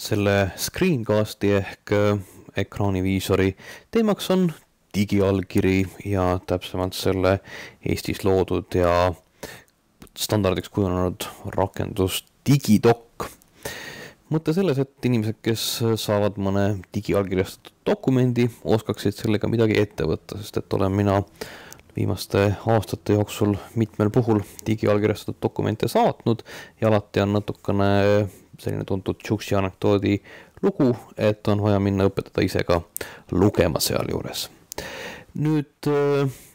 Selle screencasti ehk ekraaniviisori teemaks on digiallkiri ja täpsemalt selle Eestis loodud ja standardiks kujunenud rakendus DigiDoc. Mõte selles, et inimesed, kes saavad mõne digiallkirjastatud dokumendi, oskaksid sellega midagi ette võtta, sest et olen mina viimaste aastate jooksul mitmel puhul digiallkirjastatud dokumente saatnud ja alati on natukene selline tuntud tšuksi anekdoodi lugu, et on vaja minna õpetada ise ka lugema seal juures. Nüüd,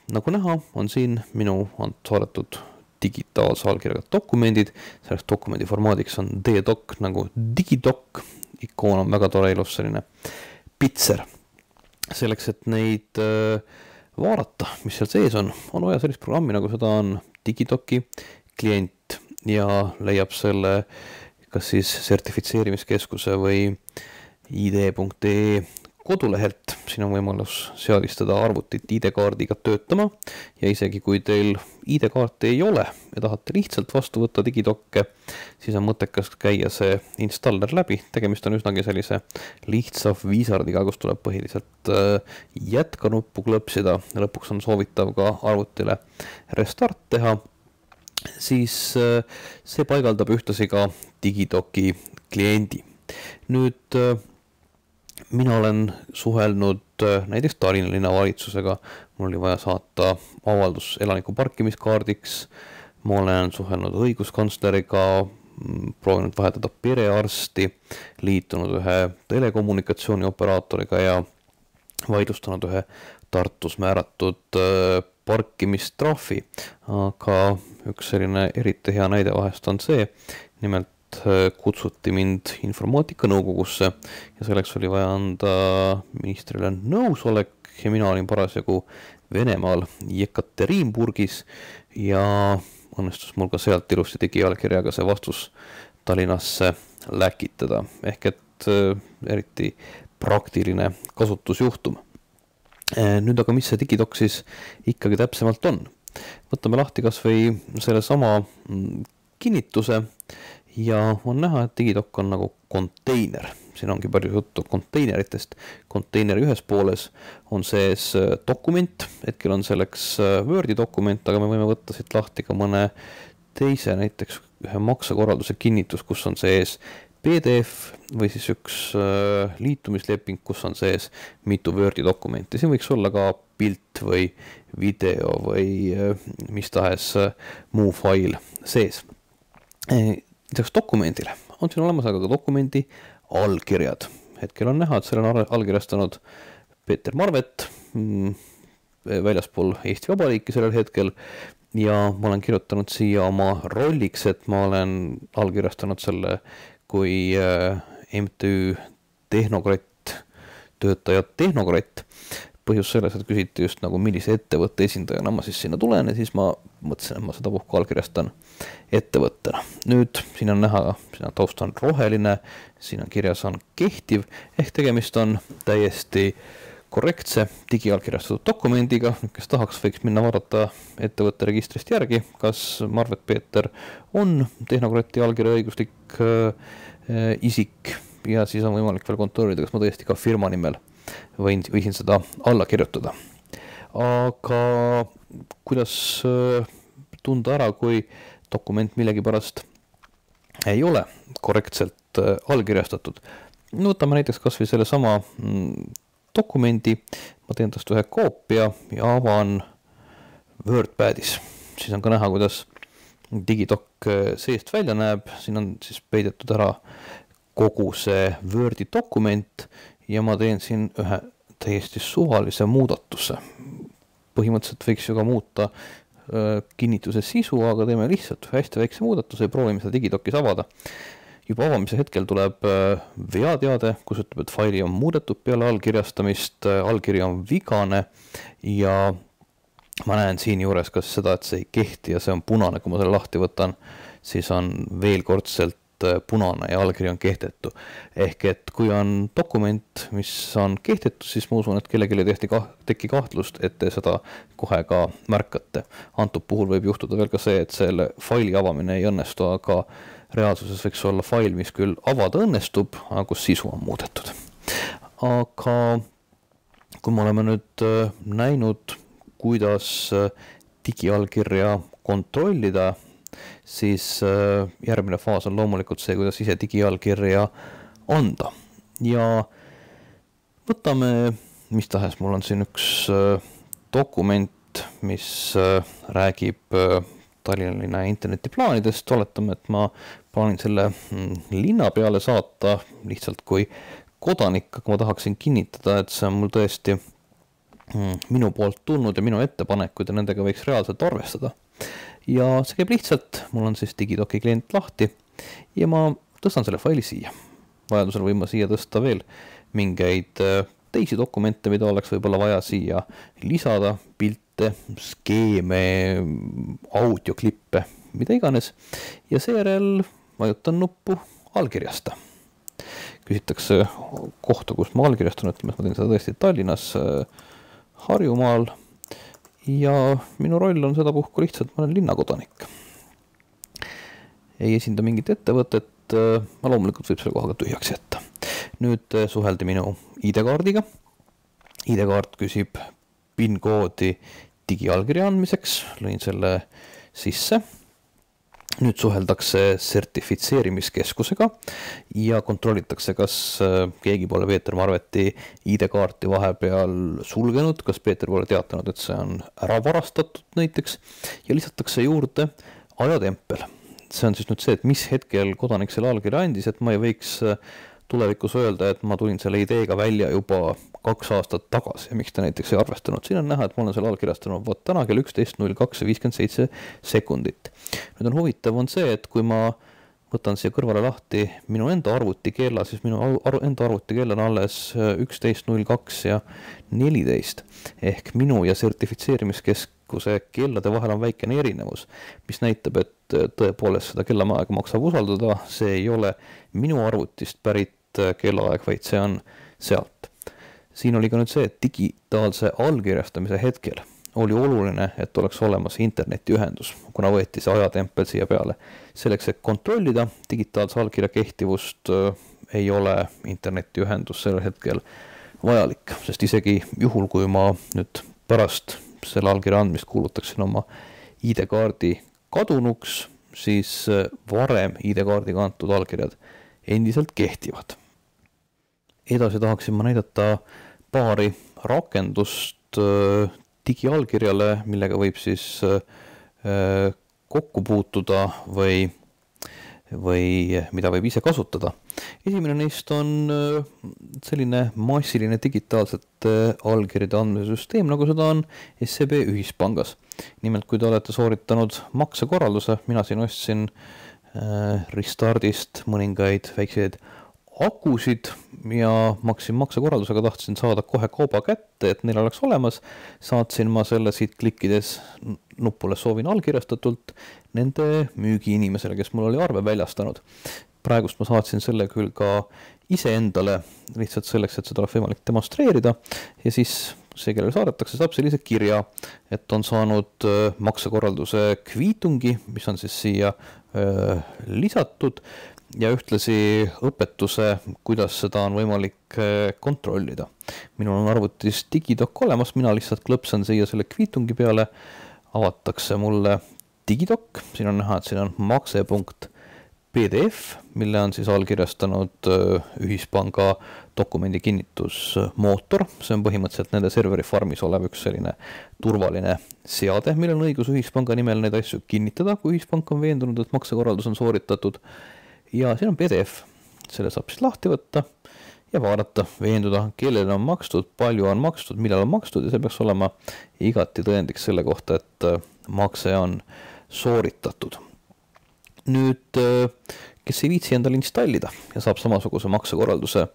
nagu näha, on siin minu saadetud digitaalse allkirjaga dokumendid. Selleks dokumendi formaadiks on DDoc nagu DigiDoc. Ikoon on väga tore ilus selline pitser. Selleks, et neid vaadata, mis seal sees on vaja sellist programmi, nagu seda on DigiDoci klient ja leiab selle kas siis sertifitseerimiskeskuse või id.ee kodulehelt. Siin on võimalus seadistada arvutit ID-kaardiga töötama ja isegi kui teil ID-kaarti ei ole ja tahate lihtsalt vastu võtta DigiDoce, siis on mõttekas käia see installer läbi. Tegemist on üsnagi sellise lihtsa viisardiga, kus tuleb põhiliselt jätkanuppu klõpsida. Lõpuks on soovitav ka arvutile restart teha. Siis see paigaldab ühtlasi ka DigiDoci kliendi. Nüüd mina olen suhelnud näiteks Tallinna linnavalitsusega. Mul oli vaja saata avaldus elaniku parkimiskaardiks. Ma olen suhelnud õiguskantsleriga, proovinud vahetada perearsti, liitunud ühe telekommunikatsiooni operaatoriga ja vaidlustanud ühe Tartus määratud parkimistrahvi. Aga üks selline eriti hea näide vahest on see, nimelt kutsuti mind informaatikanõukogusse ja selleks oli vaja anda ministrile nõusolek ja mina olin parasjagu Venemaal Jekaterinburgis ja õnnestus mul ka sealt ilusti digiallkirjaga see vastus Tallinnasse läkitada. Ehk et eriti praktiline kasutusjuhtum. Nüüd aga mis see DigiDoc siis ikkagi täpsemalt on? Võtame lahti kas või selle sama kinnituse ja on näha, et DigiDoc on nagu konteiner. Siin ongi palju juttu konteineritest. Konteineri ühes pooles on sees dokument, hetkel on selleks Wordi dokument, aga me võime võtta siit lahti ka mõne teise, näiteks ühe maksekorralduse kinnitus, kus on sees PDF või siis üks liitumisleping, kus on sees mitu Wordi dokumenti. Siin võiks olla ka pilt või video või mis tahes muu fail sees. Lisaks dokumendile on siin olemas aga ka dokumendi allkirjad. Hetkel on näha, et selle on allkirjastanud Peeter Marvet väljaspool Eesti Vabariiki sellel hetkel ja ma olen kirjutanud siia oma rolliks, et ma olen allkirjastanud selle kui MTÜ Tehnokratt, töötaja Tehnokratt. Põhjus selles, et küsiti just nagu millise ettevõtte esindajana ma siis sinna tulen ja siis ma mõtlesin, et ma seda puhku allkirjastan ettevõttena. Nüüd siin on näha, siin on taust on roheline, siin on kirjas on kehtiv, ehk tegemist on täiesti korrektse digiallkirjastatud dokumendiga. Kes tahaks, võiks minna vaadata ettevõtte registrist järgi, kas Marvet Peeter on Tehnokratti allkirja õiguslik isik ja siis on võimalik veel kontrollida, kas ma tõesti ka firma nimel võisin seda alla kirjutada. Aga kuidas tunda ära, kui dokument millegipärast ei ole korrektselt allkirjastatud? Võtame näiteks kas või selle sama dokumendi, ma teen tast ühe koopia ja avan WordPadis. Siis on ka näha, kuidas DigiDoc seest välja näeb. Siin on siis peidetud ära kogu see Wordi dokument ja ma teen siin ühe täiesti suvalise muudatuse. Põhimõtteliselt võiks ju ka muuta kinnituse sisu, aga teeme lihtsalt hästi väikse muudatuse ja proovime seda DigiDocis avada. Juba avamise hetkel tuleb veateade, kus ütleb, et faili on muudetud peale allkirjastamist, allkiri on vigane ja ma näen siin juures ka seda, et see ei kehti ja see on punane. Kui ma selle lahti võtan, siis on veel kordselt punane ja allkiri on kehtetu. Ehk et kui on dokument, mis on kehtetu, siis ma usun, et kellelgi ei teki kahtlust, et te seda kohe ka märkate. Antud puhul võib juhtuda veel ka see, et selle faili avamine ei õnnestu, aga reaalsuses võiks olla fail, mis küll avada õnnestub, aga kus sisu on muudetud. Aga kui me oleme nüüd näinud, kuidas digiallkirja kontrollida, siis järgmine faas on loomulikult see, kuidas ise digiallkirja anda. Ja võtame, mis tahes, mul on siin üks dokument, mis räägib Tallinna linna internetiplaanidest. Oletame, et ma plaanin selle linna peale saata lihtsalt kui kodanik, aga ma tahaksin kinnitada, et see on mul tõesti minu poolt tulnud ja minu ettepanekud ja nendega võiks reaalselt arvestada. Ja see käib lihtsalt, mul on siis Digidoki klient lahti ja ma tõstan selle faili siia. Vajadusel võin ma siia tõsta veel mingeid teisi dokumente, mida oleks võib-olla vaja siia lisada, pilte, skeeme, audioklippe, mida iganes. Ja seejärel vajutan nuppu allkirjasta. Küsitakse kohta, kus ma allkirjastan, ütleme, et ma teen seda tõesti Tallinnas, Harjumaal ja minu roll on sedapuhku lihtsalt, ma olen linnakodanik. Ei esinda mingit ettevõtet, ma loomulikult võib selle kohaga tühjaks jätta. Nüüd suheldi minu ID-kaardiga. ID-kaart küsib PIN-koodi digiallkirja andmiseks, lõin selle sisse. Nüüd suheldakse sertifitseerimiskeskusega ja kontrollitakse, kas keegi pole Peeter Marveti ID-kaarti vahepeal sulgenud, kas Peeter pole teatanud, et see on ära varastatud näiteks ja lisatakse juurde ajatempel. See on siis nüüd see, et mis hetkel kodanik selle allkirja andis, et ma ei võiks tulevikus öelda, et ma tulin selle ideega välja juba 2 aastat tagasi ja miks ta näiteks ei arvestanud. Siin on näha, et ma olen selle allkirjastanud täna kell 11.02.57 sekundit. Nüüd on huvitav on see, et kui ma võtan siia kõrvale lahti minu enda arvutikella, siis minu enda arvutikell on alles 11.02 ja 14 ehk minu ja sertifitseerimiskeskuse kellade vahel on väikene erinevus, mis näitab, et tõepoolest seda kellaaega maksab usaldada, see ei ole minu arvutist pärit kellaaeg, vaid see on sealt. Siin oli ka nüüd see, et digitaalse allkirjastamise hetkel oli oluline, et oleks olemas internetiühendus, kuna võeti see ajatempel siia peale. Selleks, et kontrollida digitaalse allkirja kehtivust, ei ole internetiühendus sellel hetkel vajalik, sest isegi juhul, kui ma nüüd pärast selle allkirja andmist kuulutaksin oma ID-kaardi kadunuks, siis varem ID-kaardiga antud allkirjad endiselt kehtivad. Edasi tahaksin ma näidata paari rakendust digiallkirjale, millega võib siis kokku puutuda või mida võib ise kasutada. Esimene neist on selline massiline digitaalsete allkirjade andmise süsteem, nagu seda on SEB ühispangas. Nimelt, kui te olete sooritanud maksekorralduse, mina siin ostsin Restardist mõningaid väikseid akusid ja maksin maksekorraldusega, tahtsin saada kohe kauba kätte, et neil oleks olemas. Saatsin ma selle siit klikkides nupule soovin allkirjastatult nende müügiinimesele, kes mul oli arve väljastanud. Praegust ma saatsin selle küll ka iseendale lihtsalt selleks, et seda oleks võimalik demonstreerida ja siis see, kellele saadetakse, saab sellise kirja, et on saanud maksekorralduse kviitungi, mis on siis siia lisatud ja ühtlasi õpetuse, kuidas seda on võimalik kontrollida. Minul on arvutis Digidok olemas, mina lihtsalt klõpsan siia selle kviitungi peale, avatakse mulle Digidok, siin on näha, et siin on makse.pdf, mille on siis allkirjastanud ühispanga dokumendi kinnitusmootor. See on põhimõtteliselt nende serveri farmis olev üks selline turvaline seade, millel on õigus ühispanga nimel neid asju kinnitada, kui ühispank on veendunud, et maksekorraldus on sooritatud. Ja siin on PDF, selle saab siis lahti võtta ja vaadata, veenduda, kellele on makstud, palju on makstud, millal on makstud ja see peaks olema igati tõendiks selle kohta, et makse on sooritatud. Nüüd, kes ei viitsi endale installida ja saab samasuguse maksekorralduse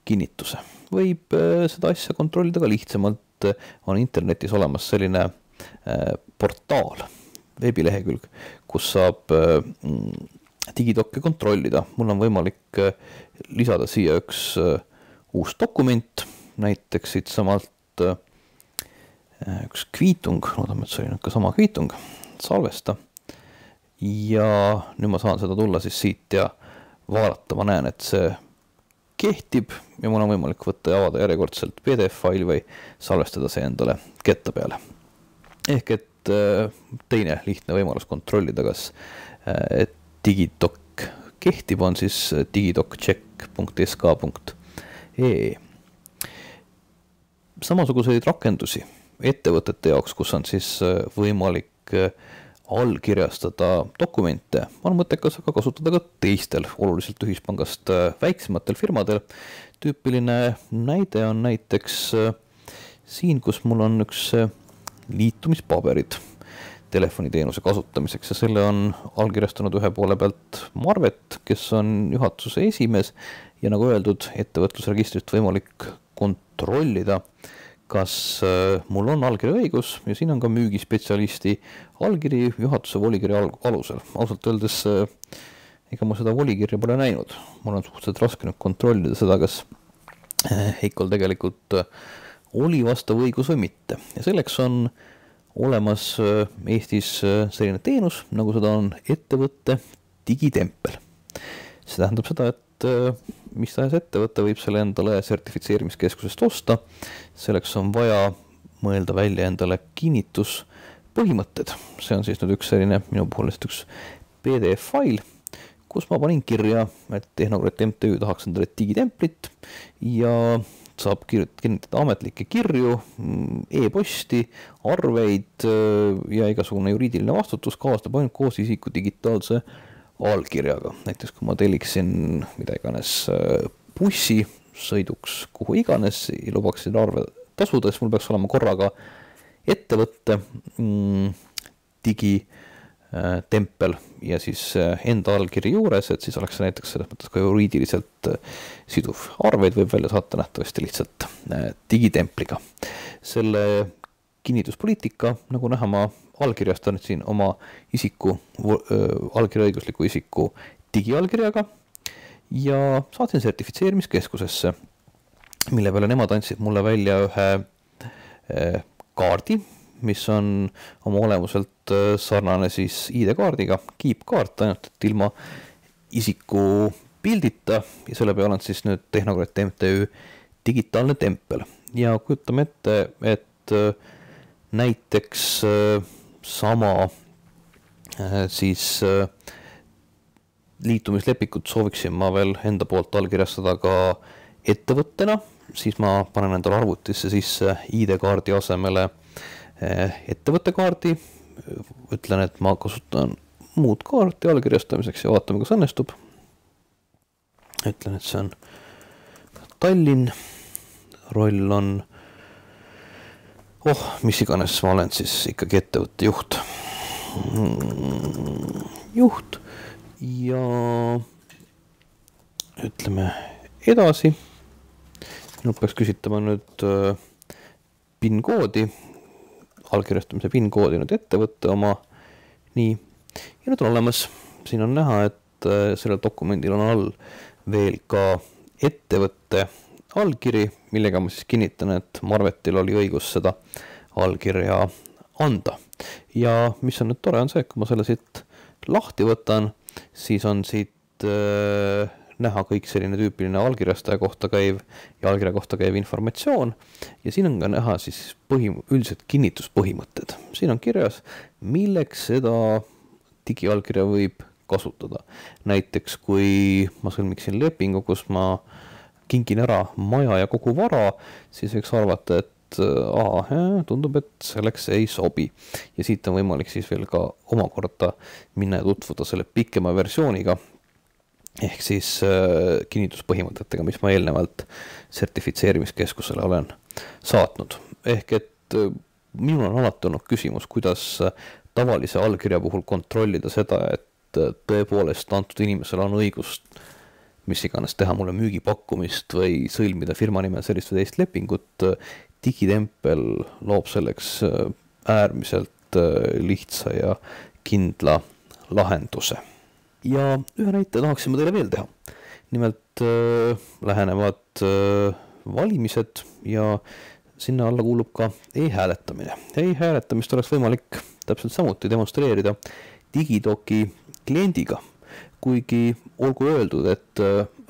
kinnituse, võib seda asja kontrollida ka lihtsamalt, on internetis olemas selline portaal, veebilehekülg, kus saab Digidokke kontrollida. Mul on võimalik lisada siia üks uus dokument, näiteks siit samalt üks kviitung, loodame, et see oli nüüd ka sama kviitung, salvesta. ja nüüd ma saan seda tulla siis siit ja vaadata, ma näen, et see kehtib ja mul on võimalik võtta ja avada järjekordselt PDF-faili või salvestada see endale ketta peale. Ehk et teine lihtne võimalus kontrollida, kas Digidoc kehtib, on siis digidoccheck.sk.ee. Samasuguseid rakendusi ettevõtete jaoks, kus on siis võimalik allkirjastada dokumente, on mõttekas aga kasutada ka teistel oluliselt ühispangast väiksematel firmadel. Tüüpiline näide on näiteks siin, kus mul on üks liitumispaberid telefoniteenuse kasutamiseks ja selle on allkirjastanud ühe poole pealt Marvet, kes on juhatuse esimees ja nagu öeldud, ettevõtlusregistrist võimalik kontrollida, kas mul on allkirja õigus ja siin on ka müügispetsialisti allkiri juhatuse volikirja alusel. Ausalt öeldes, ega ma seda volikirja pole näinud. Mul on suhteliselt raske nüüd kontrollida seda, kas Heikol tegelikult oli vastav õigus või mitte. Ja selleks on olemas Eestis selline teenus, nagu seda on ettevõtte digitempel. See tähendab seda, et mis tahes ettevõte võib selle endale sertifitseerimiskeskusest osta. Selleks on vaja mõelda välja endale kinnituspõhimõtted. See on siis nüüd üks selline minu puhul üks PDF-fail, kus ma panin kirja, et Tehnokrat MTÜ tahaks endale digitemplit ja saab kinnitada ametlikke kirju, e-posti, arveid ja igasugune juriidiline vastutus kaastab ainult koos isiku digitaalse allkirjaga. Näiteks kui ma telliksin mida iganes bussi sõiduks kuhu iganes ja lubaksin arve tasudes, mul peaks olema korraga ettevõtte digitempel ja siis enda allkiri juures, et siis oleks näiteks selles mõttes ka juriidiliselt siduv. Arveid võib välja saata nähtavasti lihtsalt digitempliga. Selle kinnituspoliitika, nagu näha, ma allkirjastan siin oma isiku, allkirjaõigusliku isiku digiallkirjaga ja saatsin sertifitseerimiskeskusesse, mille peale nemad andsid mulle välja ühe kaardi, mis on oma olemuselt sarnane siis ID-kaardiga, kiipkaart, ainult et ilma isiku pildita ja selle peale on siis nüüd Tehnokrat MTÜ digitaalne tempel. Ja kujutame ette, et näiteks sama siis liitumislepikut sooviksin ma veel enda poolt allkirjastada ka ettevõttena, siis ma panen endale arvutisse sisse ID-kaardi asemele ettevõttekaardi, ütlen, et ma kasutan muud kaarti allkirjastamiseks ja vaatame, kas õnnestub. Ütlen, et see on Tallinn, roll on mis iganes, ma olen siis ikkagi ettevõtte juht ja ütleme edasi. Minult peaks küsitama nüüd PIN-koodi, allkirjastamise PIN-koodi nüüd ettevõtte oma. Nii, ja nüüd on olemas, siin on näha, et sellel dokumendil on all veel ka ettevõtte allkiri, millega ma siis kinnitan, et Marvetil oli õigus seda allkirja anda. Ja mis on nüüd tore on see, et kui ma selle siit lahti võtan, siis on siit näha kõik selline tüüpiline allkirjastaja kohta käiv ja allkirja kohta käiv informatsioon. Ja siin on ka näha siis üldiselt kinnituspõhimõtted. Siin on kirjas, milleks seda digiallkirja võib kasutada. Näiteks kui ma sõlmiksin lepingu, kus ma kingin ära maja ja kogu vara, siis võiks arvata, et tundub, et selleks ei sobi. Ja siit on võimalik siis veel ka omakorda minna ja tutvuda selle pikema versiooniga, ehk siis kinnituspõhimõtetega, mis ma eelnevalt sertifitseerimiskeskusele olen saatnud. Ehk et minul on alati olnud küsimus, kuidas tavalise allkirja puhul kontrollida seda, et tõepoolest antud inimesel on õigust mis iganes teha mulle müügipakkumist või sõlmida firma nimel sellist või teist lepingut. Digitempel loob selleks äärmiselt lihtsa ja kindla lahenduse. Ja ühe näite tahaksime teile veel teha. Nimelt lähenevad valimised ja sinna alla kuulub ka e-hääletamine. E-hääletamist oleks võimalik täpselt samuti demonstreerida Digidoki kliendiga, kuigi olgu öeldud, et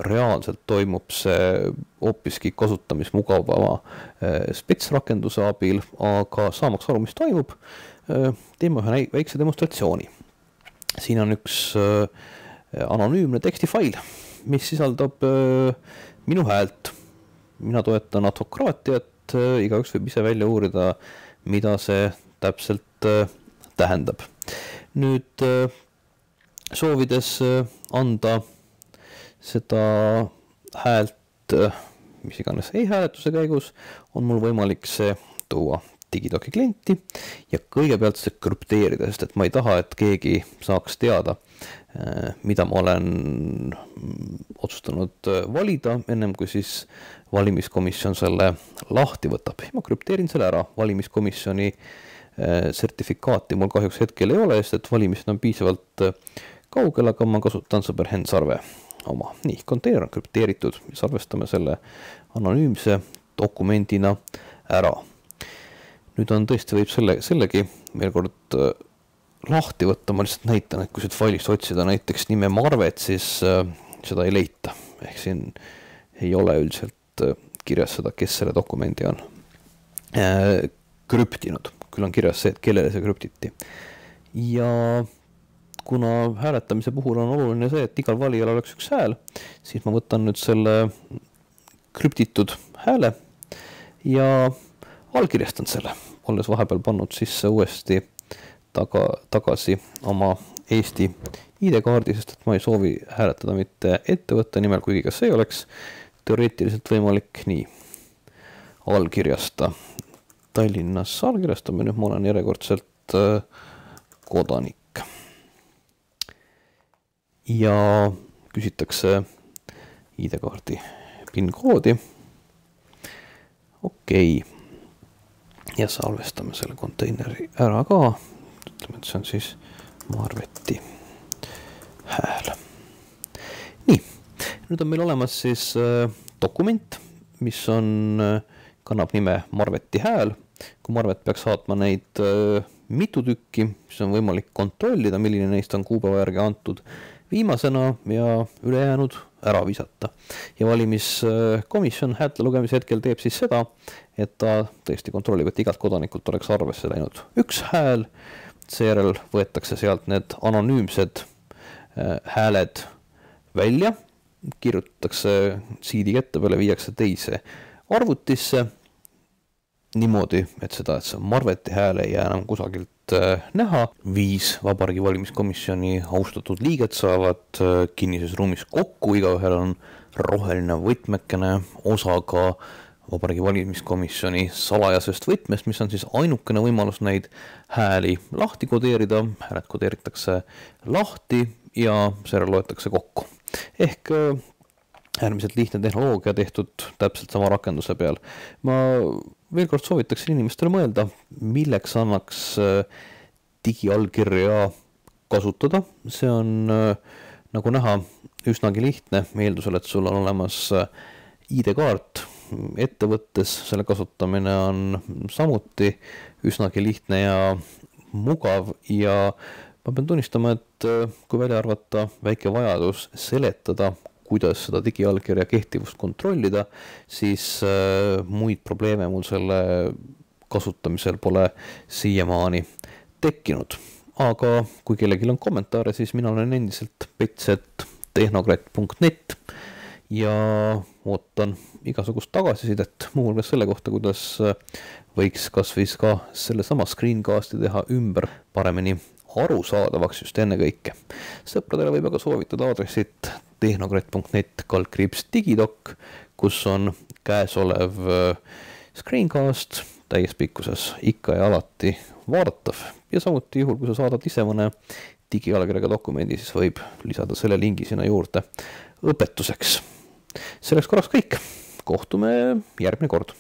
reaalselt toimub see hoopiski kasutamismugavama spetsrakenduse abil, aga saamaks aru, mis toimub, teeme ühe väikse demonstratsiooni. Siin on üks anonüümne tekstifail, mis sisaldab minu häält. Mina toetan advokraatiat, igaüks võib ise välja uurida, mida see täpselt tähendab. Nüüd soovides anda seda häält, mis iganes e-hääletuse käigus, on mul võimalik see tuua Digidoki klienti ja kõigepealt see krüpteerida, sest et ma ei taha, et keegi saaks teada, mida ma olen otsustanud valida, ennem kui siis valimiskomisjon selle lahti võtab. Ma krüpteerin selle ära, valimiskomisjoni sertifikaati mul kahjuks hetkel ei ole, sest et valimised on piisavalt kaugel, aga ma kasutan sõber Henn Sarve oma. Nii, konteiner on krüpteeritud, salvestame selle anonüümse dokumendina ära. Nüüd on tõesti võib sellegi veel kord lahti võtta, ma lihtsalt näitan, et kui siit failist otsida näiteks nime Marvet, siis seda ei leita. Ehk siin ei ole üldiselt kirjas seda, kes selle dokumendi on krüptinud. Küll on kirjas see, et kellele see krüptiti. Ja kuna hääletamise puhul on oluline see, et igal valijal oleks üks hääl, siis ma võtan nüüd selle krüptitud hääle ja allkirjastan selle, olles vahepeal pannud sisse uuesti tagasi oma Eesti ID-kaardi, sest et ma ei soovi hääletada mitte ettevõtte nimel, kuigi kas see oleks teoreetiliselt võimalik nii allkirjasta. Tallinnas allkirjastame, nüüd ma olen järjekordselt kodanik. Ja küsitakse ID-kaardi PIN-koodi. Okei. Ja salvestame selle konteineri ära ka. Ütleme, et see on siis Marveti hääl. Nii, nüüd on meil olemas siis dokument, mis kannab nime Marveti hääl. Kui Marvet peaks saatma neid mitu tükki, siis on võimalik kontrollida, milline neist on kuupäeva järgi antud viimasena ja ülejäänud ära visata. Ja valimiskomisjon häälte lugemise hetkel teeb siis seda, et ta tõesti kontrollib, et igalt kodanikult oleks arvesse läinud üks hääl, seejärel võetakse sealt need anonüümsed hääled välja, kirjutatakse CD ette peale, viiakse teise arvutisse, niimoodi, et see Marveti hääl ei jää enam kusagilt näha. 5 Vabariigi valimiskomisjoni austatud liiget saavad kinnises ruumis kokku, igaühel on roheline võtmekene osaga Vabariigi valimiskomisjoni salajasest võtmest, mis on siis ainukene võimalus neid hääli lahti kodeerida. Hääled kodeeritakse lahti ja seejärel loetakse kokku. Ehk äärmiselt lihtne tehnoloogia tehtud täpselt sama rakenduse peal. Ma veel kord soovitaksin inimestele mõelda, milleks annaks digiallkirja kasutada. See on nagu näha üsnagi lihtne, eeldusel, et sul on olemas ID-kaart ettevõttes, selle kasutamine on samuti üsnagi lihtne ja mugav ja ma pean tunnistama, et kui välja arvata väike vajadus seletada, kuidas seda digiallkirja kehtivust kontrollida, siis muid probleeme mul selle kasutamisel pole siiamaani tekkinud. Aga kui kellelgi on kommentaare, siis mina olen endiselt pets@tehnokrat.net ja ootan igasugust tagasisidet, muuhulgas selle kohta, kuidas võiks kas või ka sellesama screencasti teha ümber paremini arusaadavaks just enne kõike. Sõpradele võib aga soovitada aadressit tehnokrat.net/digidok, kus on käesolev screencast täies pikkuses ikka ja alati vaadatav. Ja samuti juhul, kui sa saadad ise mõne digiallkirjaga dokumendi, siis võib lisada selle lingi sinna juurde õpetuseks. Selleks korraks kõik. Kohtume järgmine kord.